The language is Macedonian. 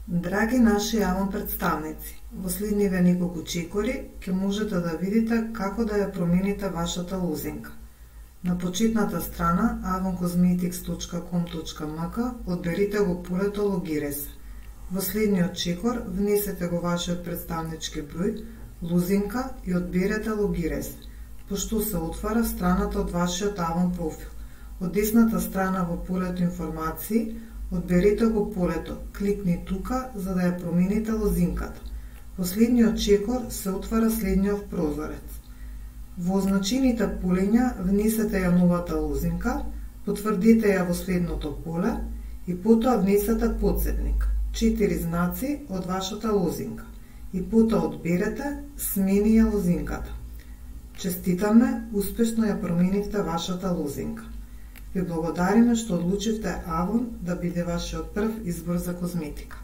Драги наши Avon представници, во следниве неколку чекори ќе можете да видите како да ја промените вашата лузинка. На почетната страна avoncosmetics.com.mk одберите го полето Логире се. Во следниот чекор внесете го вашиот представнички број, лузинка и одберете Логире се. Пошто се отвара страната од вашиот Avon профил. Од десната страна во полето информации одберете го полето, кликни тука за да ја промените лозинката. Во следниот чекор се отвара следниот прозорец. Во означените полења внесете ја новата лозинка, потврдите ја во следното поле и потоа внесете потсетник, 4 знаци од вашата лозинка и потоа одберете смени ја лозинката. Честитаме, успешно ја променивте вашата лозинка. Ви благодариме што одлучивте Avon да биде вашиот прв избор за козметика.